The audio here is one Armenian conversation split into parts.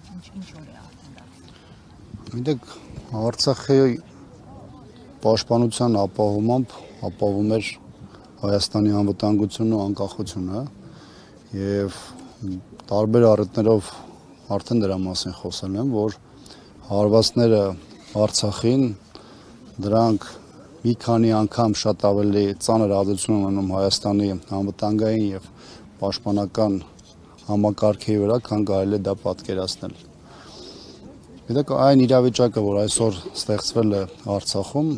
Ինչ օր է արդեն դա։ Գիտեք, Արցախի պաշտպանության ապահովում էր Հայաստանի անվտանգությունն ու անկախությունը եւ տարբեր առիթներով արդեն դրա մասին խոսել եմ, որ հարվածները Արցախին դրանք մի քանի անգամ շատ ավելի ծանր ազդեցություն ունենում Հայաստանի անվտանգային եւ պաշտպանական համակարգի վրա, քան կարելի է դա պատկերացնել։ Գիտեք, այն իրավիճակը, որ այսօր ստեղծվել է Արցախում,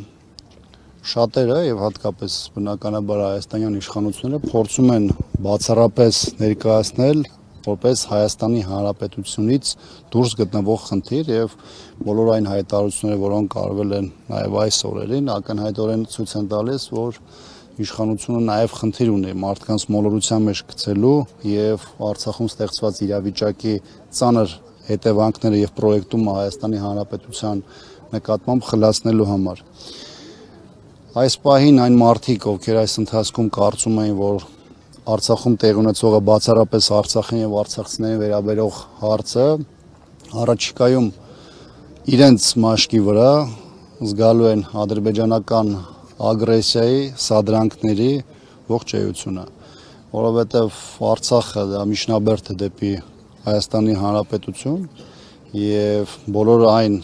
շատերը եւ հատկապես բնականաբար հայաստանյան իշխանությունները փորձում են բացառապես ներկայացնել որպես Հայաստանի Հանրապետությունից դուրս գտնվող խնդիր եւ բոլոր այն հայտարարությունները, որոնք արվել են նաեւ այս օրերին, ակնհայտորեն ցույց են տալիս, որ իշխանությունը նաեւ խնդիր ունի մարդկանց մոլորության մեջ գցելու եւ Արցախում ստեղծված իրավիճակի ծանր հետևանքները եւ պրոյեկտումը Հայաստանի Հանրապետության նկատմամբ խլացնելու համար։ Այս պահին այն մարդիկ, ովքեր այս ընթացքում կարծում էին, որ Արցախում տեղի ունեցողը բացառապես Արցախին եւ արցախցիներին վերաբերող հարց է, առաջիկայում իրենց մաշկի վրա զգալու են ադրբեջանական ագրեսիայի, սադրանքների ողջ էությունը, որովհետեւ Արցախը դա միջնաբերդ է դեպի Հայաստանի Հանրապետություն եւ բոլոր այն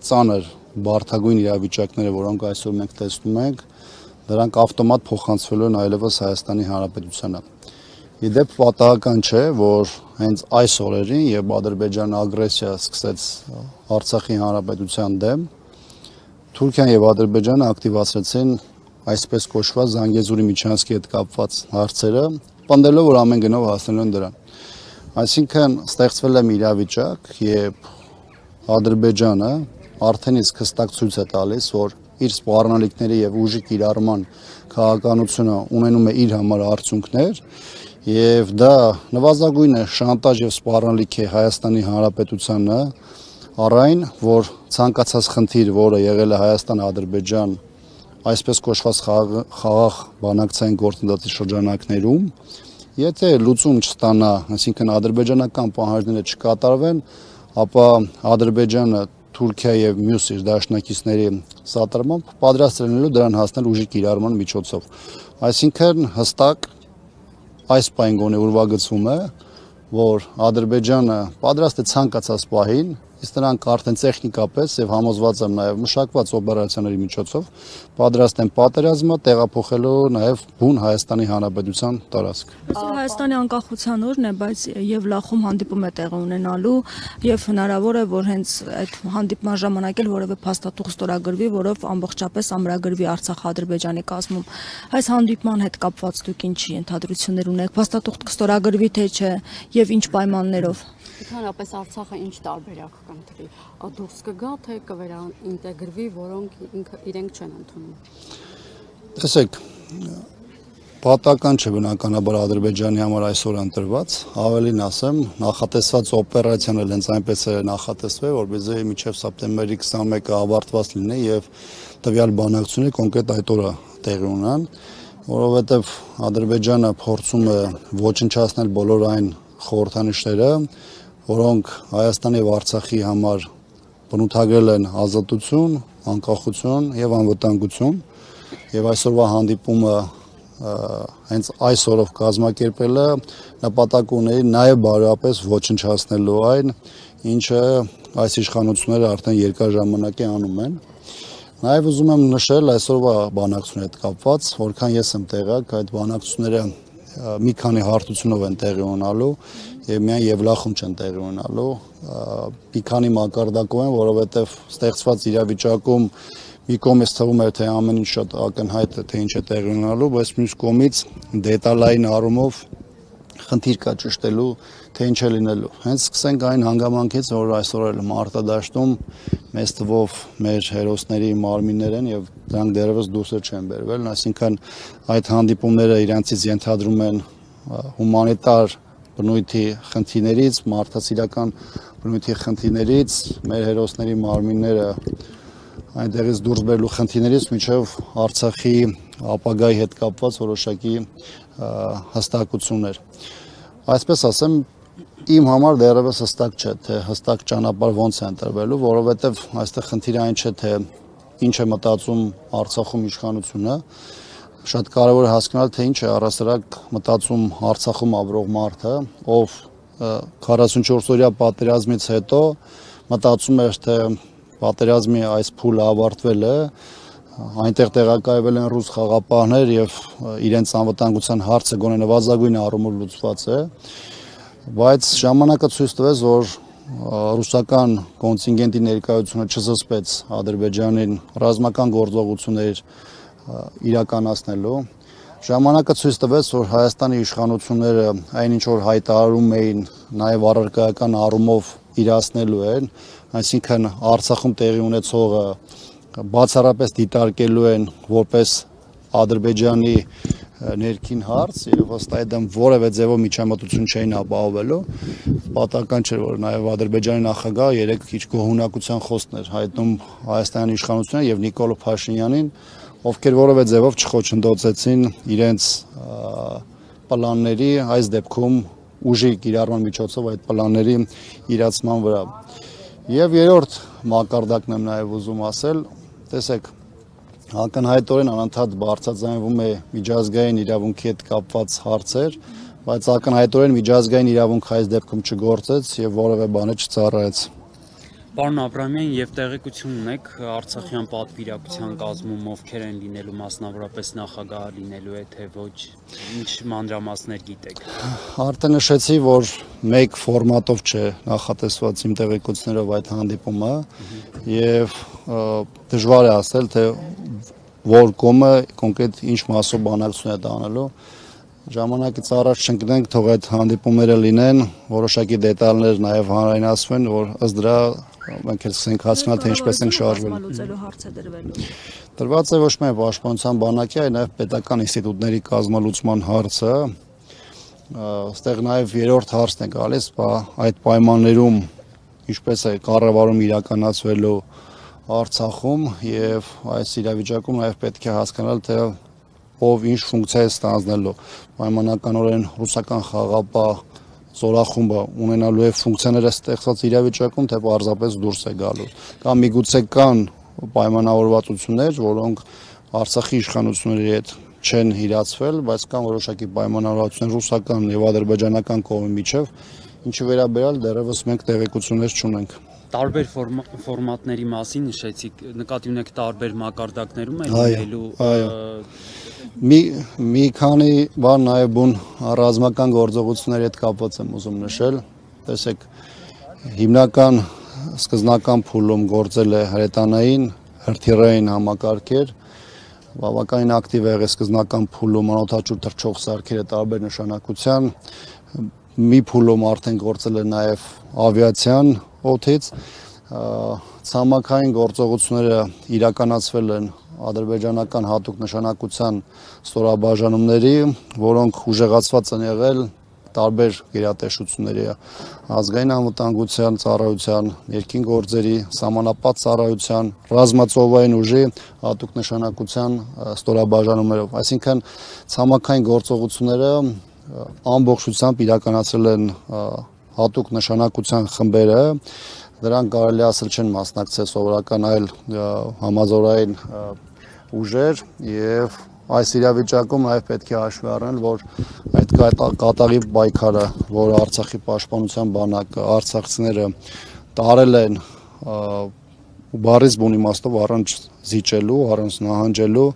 ծանր բարդագույն իրավիճակները, որոնք այսօր մենք տեսնում ենք, դրանք ավտոմատ փոխանցվելու են այլևս Հայաստանի Հանրապետությանը։ Իդեպ պատահական չէ, որ հենց այս օրերին, երբ Ադրբեջանը ագրեսիա սկսեց Արցախի Հանրապետության դեմ, Թուրքիան եւ Ադրբեջանը ակտիվացրեցին այսպես կոչված Զանգեզուրի միջանցքի հետ կապված հարցերը, պնդելով, որ ամեն գնով հասնելու են դրան։ Այսինքն ստեղծվել է մի իրավիճակ, երբ Ադրբեջանը արդեն իսկ հստակ ցույց է տալիս, որ իր սպառնալիքների եւ ուժի կիրառման քաղաքականությունը ունենում է իր համար արդյունքներ եւ դա նվազագույն է շանտաժ եւ սպառնալիք է Հայաստանի Հանրապետությանը առայն, որ ցանկացած խնդիր, որը եղել է Հայաստան-Ադրբեջան այսպես կոչված խաղաղ բանակցային գործընթացի շրջանակներում, եթե լուծում չստանա, այսինքն ադրբեջանական պահանջները չկատարվեն, ապա Ադրբեջանը Թուրքիա եւ մյուս իր դաշնակիցների սատարմամբ պատրաստ լինելու դրան հասնել ուժի կիրառման միջոցով։ Այսինքն հստակ այս պահին գոնե ուրվագծվում է, որ Ադրբեջանը պատրաստ է ցանկացած պահին, իսկ նրանք արդեն տեխնիկապես եւ համոզված եմ նաեւ մշակված օպերացիաների միջոցով պատրաստ են պատերազմը տեղափոխելու նաեւ բուն Հայաստանի Հանրապետության տարածք։ Հայաստանի անկախության օրն է, բայց Եվլախում հանդիպում է տեղի ունենալու եւ հնարավոր է, որ հենց այդ հանդիպման ժամանակ էլ որևէ փաստաթուղթ ստորագրվի, որով ամբողջապես ամրագրվի Արցախ-Ադրբեջանի կազմում։ Այս հանդիպման հետ կապված դուք ինչի ենթադրություններ ունեք, փաստաթուղթ կստորագրվի թե չէ եւ ինչ պայմաններով։ Ընդհանրապես Արցախը ինչ տարբերակ կընտրի, դուրս կգա թե կվերաինտեգրվի, որոնք իրենք չեն ընդունում։ Տեսեք, պատահական չէ բնականաբար Ադրբեջանի համար այսօր ընտրված, ավելին ասեմ, նախատեսված օպերացիան էլ հենց այնպես է նախատեսվել, որպեսզի մինչև սեպտեմբերի 21-ը ավարտված լինի եւ տվյալ բանակցությունները կոնկրետ այդ օրը տեղի ունենան, որովհետեւ Ադրբեջանը փորձում է ոչնչացնել բոլոր այն խորհրդանիշները, որոնք Հայաստանի եւ Արցախի համար բնութագրել են ազատություն, անկախություն եւ անվտանգություն, եւ այսօրվա հանդիպումը հենց այս օրով կազմակերպելը նպատակ ունի նաեւ բարոյապես ոչնչացնելու այն, ինչը այս իշխանությունները արդեն երկար ժամանակ է անում են։ Նաեւ ուզում եմ նշել այսօրվա բանակցությունների հետ կապված, որքան ես եմ տեղյակ, այդ բանակցությունները մի քանի հարթությունով են տեղի ունենալու եւ միայն Եվլախում չեն տեղի ունենալու, մի քանի մակարդակով են, որովհետեւ ստեղծված իրավիճակում մի կողմից թվում է, թե ամեն ինչ շատ ակնհայտ է, թե ինչ է տեղի ունենալու, բայց մյուս կողմից դետալային առումով խնդիր կա ճշտելու, թե ինչ է լինելու։ Հենց սկսենք այն հանգամանքից, որ այսօր էլ մարտադաշտում մեծ թվով մեր հերոսների մարմիններ են եւ դրանք դեռևս դուրս չեն բերվել, այսինքն այդ հանդիպումները իրանցից ենթադրում են հումանիտար բնույթի խնդիրներից, մարդասիրական բնույթի խնդիրներից, մեր հերոսների մարմինները այնտեղից դուրս բերելու խնդիրներից մինչև Արցախի ապագայի հետ կապված որոշակի հստակություններ։ Այսպես ասեմ, իմ համար դեռևս հստակ չէ, թե հստակ ճանապարհ ոնց է ընտրվելու, որովհետև այստեղ խնդիրը այն չէ, թե ինչ է մտածում Արցախում իշխանությունը, շատ կարևոր է հասկանալ, թե ինչ է առասարակ մտածում Արցախում ապրող մարդը, ով 44-օրյա պատերազմից հետո մտածում էր, թե պատերազմի այս փուլը ավարտվել է, այնտեղ տեղակայվել են ռուս խաղապահներ եւ իրենց անվտանգության հարցը գոնե նվազագույն առումով լուծված է, բայց ժամանակը ցույց տվեց, որ ռուսական կոնտինգենտի ներկայությունը չզսպեց Ադրբեջանին ռազմական գործողություններ իրականացնելու։ Ժամանակը ցույց տվեց, որ Հայաստանի իշխանությունները այնինչ որ հայտարարում էին, նաև առարկայական առումով իրացնելու են, այսինքն Արցախում տեղի ունեցողը բացառապես դիտարկելու են որպես Ադրբեջանի ներքին հարց եւ ըստ այդմ որևէ ձևով միջամտություն չէին ապահովելու, պատահական չէ, որ նաև Ադրբեջանի նախագահը երեք քիչ գոհունակության խոսքներ հայտնում Հայաստանի իշխանություններին եւ Նիկոլ Փաշինյանին, ովքեր որևէ ձևով չխոչընդոտեցին իրենց պլանների, այս դեպքում ուժի կիրառման միջոցով այդ պլանների իրացման վրա։ Եվ երրորդ մակարդակն եմ նաև ուզում ասել, տեսեք, ակնհայտորեն անընդհատ բարձրաձայնվում է միջազգային իրավունքի հետ կապված հարցեր, բայց ակնհայտորեն միջազգային իրավունքը այս դեպքում չգործեց եւ որևէ բան չծառայեց։ Պարոն Աբրամյան, եւ տեղեկություն ունեք Արցախյան պատվիրակության կազմում ովքեր են լինելու, մասնավորապես նախագահը լինելու է, թե ոչ, ինչ մանրամասներ գիտեք։ Արդեն նշեցի, որ մեկ ֆորմատով չէ նախատեսված իմ տեղեկություններով այդ հանդիպումը եւ դժվար է ասել, թե որ կողմը կոնկրետ ինչ մասով բանակցություն է տանելու։ Ժամանակից առաջ չընկնենք, թող այդ հանդիպումները լինեն, որոշակի դետալներ նաև հանրայնացվեն, որ ըստ դրա մենք էլ սկսենք հասկանալ, թե ինչպես ենք շարժվել։ Տրված է ոչ միայն պաշտպանության բանակի, այլ նաև պետական ինստիտուտների կազմալուծման հարցը։ Այստեղ նաև երրորդ հարցն է գալիս, այդ պայմաններում ինչպես է կառավարում իրականացվելու Արցախում եւ այս իրավիճակում նաև պետք է հասկանալ, թե ով ինչ ֆունկցիա է ստանձնելու։ Պայմանականորեն ռուսական խաղապահ զորախումբը ունենալու է ֆունկցիաները ստեղծված իրավիճակում, թե պարզապես դուրս է գալու։ Կամ միգուցե կան պայմանավորվածություններ, որոնք Արցախի իշխանությունների հետ չեն իրացվել, բայց կան որոշակի պայմանավորվածություններ ռուսական եւ ադրբեջանական կողմի միջև, ինչի վերաբերյալ դեռևս մենք տեղեկություններ չունենք։ Տարբեր ֆորմատների մասին նշեցիք, նկատի ունեք տարբեր մակարդակներում է լինելու։ Մի քանի բան նաև բուն ռազմական գործողությունների հետ կապված եմ ուզում նշել։ Տեսեք, հիմնական սկզբնական փուլում գործել է հրետանային, հրթիռային համակարգեր, բավականին ակտիվ է եղել սկզբնական փուլում անօդաչու թռչող սարքերը տարբեր նշանակության, մի փուլում արդեն գործել է նաև ավիացիան օդից, ցամաքային գործողությունները իրականացվել են ադրբեջանական հատուկ նշանակության ստորաբաժանումների, որոնք ուժեղացված են եղել տարբեր գերատեսչությունների, ազգային անվտանգության ծառայության, ներքին գործերի, սահմանապատ ծառայության, ռազմածովային ուժի հատուկ նշանակության ստորաբաժանումներով, այսինքն ցամաքային գործողությունները ամբողջությամբ իրականացրել են հատուկ նշանակության խմբերը, դրանք կարելի ասել չեն մասնակցել սովորական այլ համազորային ուժեր եւ այս իրավիճակում նաև պետք է հաշվի առնել, որ այդ կատաղի պայքարը, որ Արցախի պաշտպանության բանակը, արցախցիները տարել են բառից բուն իմաստով առանց զիջելու, առանց նահանջելու,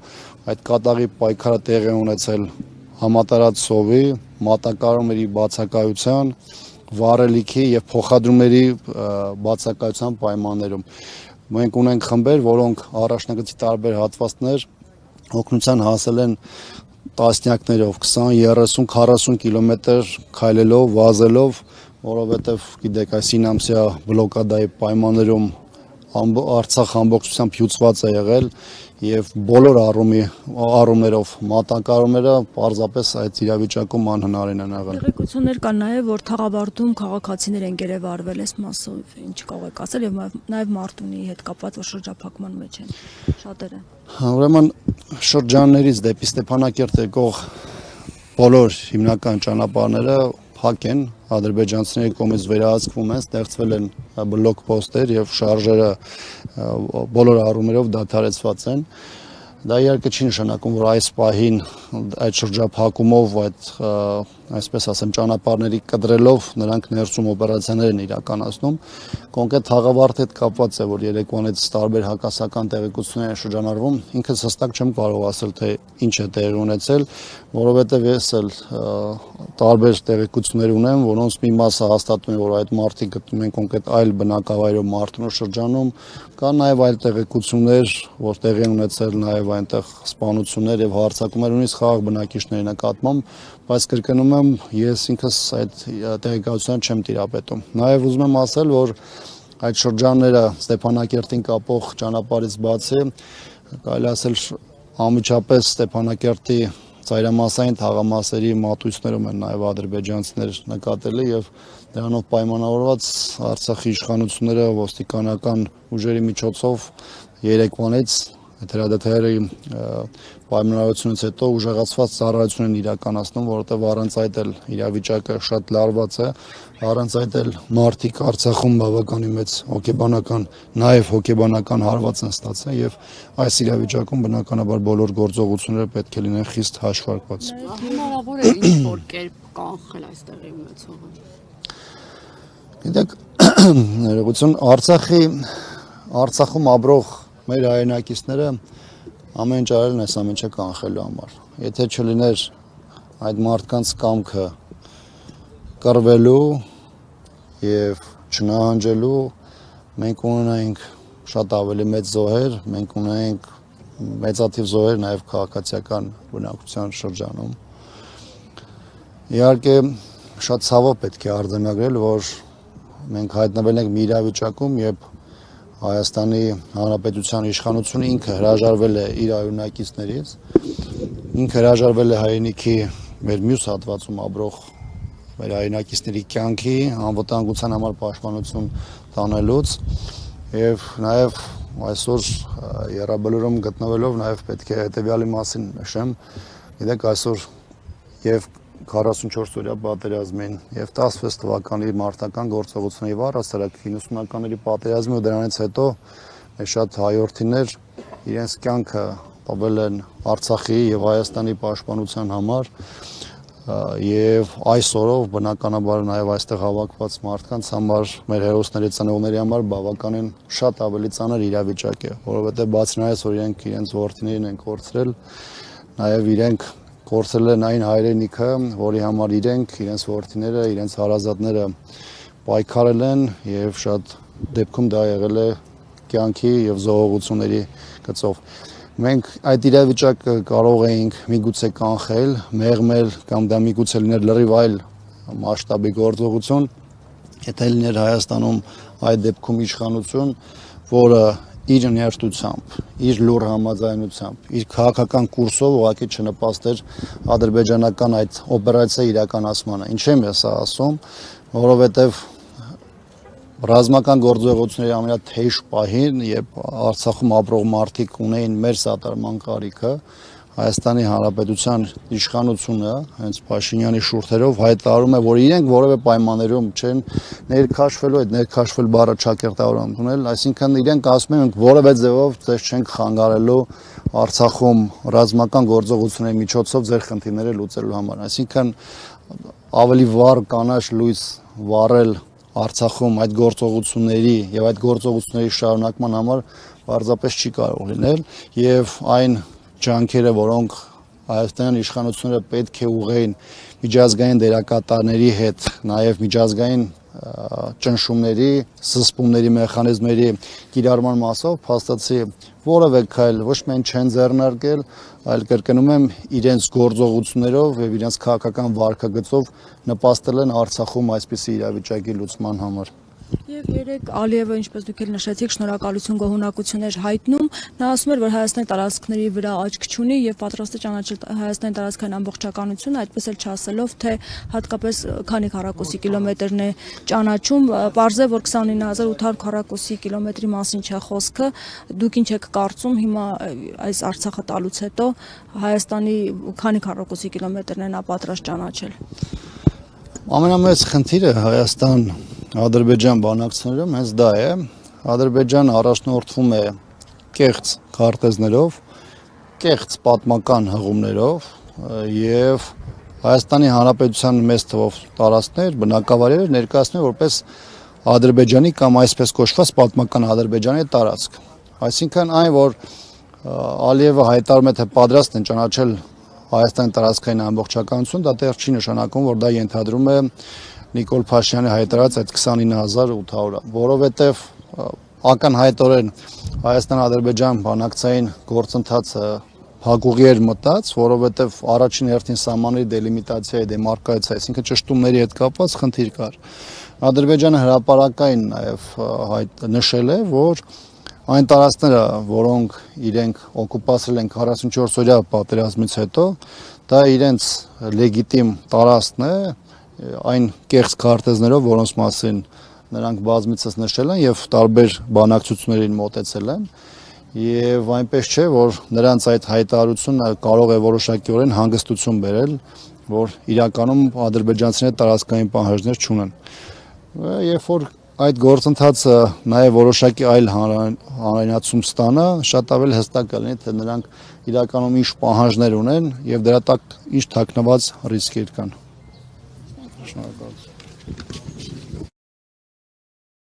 այդ կատաղի պայքարը տեղի է ունեցել համատարած սովի, մատակարարումների բացակայության, վառելիքի եւ փոխադրումների բացակայության պայմաններում։ Մենք ունենք խմբեր, որոնք առաջնագծի տարբեր հատվածներ օգնության հասել են տասնյակներով, 20, 30, 40 կիլոմետր քայլելով, վազելով, որովհետեւ գիտեք, այս 9 ամսյա բլոկադայի պայմաններում Արցախ ամբողջությամբ հյուծված է եղել եւ բոլոր առումներով մատակարարումները պարզապես այդ իրավիճակում անհնարին են եղել։ Տեղեկություններ կան նաեւ, որ Թաղավարտում քաղաքացիներ են գերեվարվել այս մասով, ինչ կարող եք ասել եւ նաեւ Մարտունիի հետ կապված, որ շրջափակման մեջ են շատերը։ Ուրեմն շրջաններից դեպի Ստեփանակերտ եկող բոլոր հիմնական ճանապարհները փակ են, ադրբեջանցիների կողմից վերահսկվում են, ստեղծվել են բլոկ պոստեր եւ շարժերը բոլոր առումներով դադարեցված են։ Դա իհարկե չի նշանակում, որ այս պահին այդ շրջափակումով, այդ այսպես ասեմ, ճանապարհների կտրելով նրանք ներսում օպերացիաներ են իրականացնում։ Կոնկրետ թաղավարտի հետ կապված է, որ երեկվանից տարբեր հակասական տեղեկություններ են շրջանառվում, ինքս հստակ չեմ կարող ասել, թե ինչ է տեղի ունեցել, որովհետև ես էլ տարբեր տեղեկություններ ունեմ, որոնց մի մասը հաստատում է, որ այդ մարդիկ գտնվում են կոնկրետ այլ բնակավայրում Մարտունու շրջանում, կան նաև այլ տեղեկություններ, որ տեղի են ունեցել նաև այնտեղ սպանություններ եւ հարձակումներ ունի խաղաղ բնակիչների նկատմամբ, բայց կրկնում եմ, ես ինքս այդ տեղեկատվությունը չեմ տիրապետում։ Նաև ուզում եմ ասել, որ այդ շրջանները Ստեփանակերտին կապող ճանապարհից բացի, կարելի ասել անմիջապես Ստեփանակերտի ծայրամասային թաղամասերի մատույցներում են նաև ադրբեջանցիներ նկատելի եւ դրանով պայմանավորված Արցախի իշխանությունները ոստիկանական ուժերի միջոցով երեկվանից հրադադարի պայմանավորությունից հետո ուժեղացված ծառայություն են իրականացնում, որովհետև առանց այդ էլ իրավիճակը շատ լարված է, առանց այդ էլ մարդիկ Արցախում բավականին մեծ հոգեբանական, նաև հոգեբանական հարված են ստացել եւ այս իրավիճակում բնականաբար բոլոր գործողությունները պետք է լինեն խիստ հաշվարկված։ Հնարավոր է ինչ-որ կերպ կանխել այս տեղի ունեցողը։ Գիտեք, ներողություն, Արցախում ապրող մեր հայրենակիցները ամեն ինչ արել են այս ամեն ինչը կանխելու համար։ Եթե չլիներ այդ մարդկանց կամքը կռվելու եւ չնահանջելու, մենք ունենայինք շատ ավելի մեծ զոհեր, մենք ունենայինք մեծաթիվ զոհեր նաեւ քաղաքացիական բնակության շրջանում։ Իհարկե շատ ցավով պետք է արձանագրել, որ մենք հայտնվել ենք մի իրավիճակում, երբ Հայաստանի Հանրապետության իշխանությունը ինքը հրաժարվել է իր հայրենակիցներից, ինքը հրաժարվել է հայրենիքի մեր մյուս հատվածում ապրող մեր հայրենակիցների կյանքի անվտանգության համար պաշտպանություն տանելուց եւ նաեւ այսօր Եռաբլուրում գտնվելով նաեւ պետք է հետեւյալի մասին նշեմ, գիտեք այսօր եւ 44-օրյա պատերազմին եւ 16 թվականի մարտական գործողությունների առասարակ 90-ականների պատերազմի ու դրանից հետո մեր շատ հայրենիներ իրենց կյանքը տվել են Արցախի եւ Հայաստանի պաշտպանության համար եւ այս օրով բնականաբար նաեւ այստեղ հավաքված մարդկանց համար մեր հերոսների ծնողների համար բավականին շատ ավելի ծանր իրավիճակ է, որովհետեւ բացի նայած որ իրենք իրենց որդիներին են կորցրել, նաեւ իրենք կորցրել են այն հայրենիքը, որի համար իրենք, իրենց որդիները, իրենց հարազատները պայքարել են եւ շատ դեպքում դա եղել է կյանքի եւ զոհողությունների գծով։ Մենք այդ իրավիճակը կարող էինք միգուցե կանխել, մեղմել կամ դա միգուցե լիներ լրիվ այլ մասշտաբի գործողություն, եթե լիներ Հայաստանում այդ դեպքում իշխանություն, որը իր ներդրությամբ, իր լուր համաձայնությամբ, իր քաղաքական կուրսով ուղղակի չնպաստեր ադրբեջանական այդ օպերացիայի իրականացմանը։ Ինչ եմ ես ասում, որովհետև ռազմական գործողությունների ամենաթեժ պահին, երբ Արցախում ապրող մարդիկ ունեին մեր սատարման կարիքը, Հայաստանի Հանրապետության իշխանությունը հենց Փաշինյանի շուրթերով հայտարարում է, որ իրենք որևէ պայմաններում չեն ներքաշվելու, այդ ներքաշվել բառը ճակերտավոր ընդունել, այսինքն իրենք ասում են, որևէ ձևով ձեզ չենք խանգարելու Արցախում ռազմական գործողությունների միջոցով ձեր խնդիրները լուծելու համար, այսինքն ավելի վառ կանաչ լույս վառել Արցախում այդ գործողությունների եւ այդ գործողությունների շարունակման համար պարզապես չի կարող լինել եւ այն ջանքերը, որոնք հայաստանյան իշխանությունները պետք է ուղղեին միջազգային դերակատարների հետ, նաև միջազգային ճնշումների, սսպումների մեխանիզմերի կիրառման մասով փաստացի որևէ քայլ ոչ միայն չեն ձեռնարկել, այլ կրկնում եմ իրենց գործողություններով եւ իրենց քաղաքական վարքագծով նպաստել են Արցախում այսպիսի իրավիճակի լուծման համար։ Եվ երեք Ալիևը, ինչպես դուք էլ նշեցիք, շնորհակալություն գոհունակություններ հայտնում, նա ասում էր, որ Հայաստանի տարածքների վրա աչք չունի եւ պատրաստ է ճանաչել Հայաստանի տարածքային ամբողջականությունը, այդպես էլ չասելով, թե հատկապես քանի քառակուսի կիլոմետրն է ճանաչում, պարզ է, որ 29800 քառակուսի կիլոմետրի մասին չէ խոսքը, դուք ինչ եք կարծում հիմա այս Արցախը տալուց հետո Հայաստանի քանի քառակուսի կիլոմետրն է նա պատրաստ ճանաչել։ Ամենամեծ խնդիրը Հայաստան-Ադրբեջան բանակցություններում հենց դա է։ Ադրբեջանը առաջնորդվում է կեղծ քարտեզներով, կեղծ պատմական հղումներով եւ Հայաստանի Հանրապետության մեծ թվով տարածքներ, բնակավայրեր ներկայացնում է որպես Ադրբեջանի կամ այսպես կոչված պատմական Ադրբեջանի տարածք։ Այսինքն այն, որ Ալիևը հայտարարում է, թե պատրաստ են ճանաչել Հայաստանի տարածքային ամբողջականություն, դա դեռ չի նշանակում, որ դա ենթադրում է Նիկոլ Փաշինյանի հայտարարած այդ 29800-ը, որովհետև ակնհայտորեն Հայաստան-Ադրբեջան բանակցային գործընթացը փակուղի էր մտած, որովհետև առաջին հերթին սահմանների դելիմիտացիայի դեմարկացիա, այսինքն ճշտումների հետ կապված խնդիր կար։ Ադրբեջանը հրապարակային նաև նշել է, որ այն տարածքները, որոնք իրենք օկուպացրել են 44-օրյա պատերազմից հետո, դա իրենց լեգիտիմ տարածքն է, այն կեղծ քարտեզներով, որոնց մասին նրանք բազմիցս նշել են եւ տարբեր բանակցություններին մոտեցել են, եւ այնպես չէ, որ նրանց այդ հայտարարությունը կարող է որոշակիորեն հանգստություն բերել, որ իրականում ադրբեջանցիները տարածքային պահանջներ չունեն։ Երբ որ այդ գործընթացը նաև որոշակի այլ հանրայնացում ստանա, շատ ավելի հստակ կլինի, թե նրանք իրականում ինչ պահանջներ ունեն եւ դրա տակ ինչ թաքնված ռիսկեր կան։ Շնորհակալություն։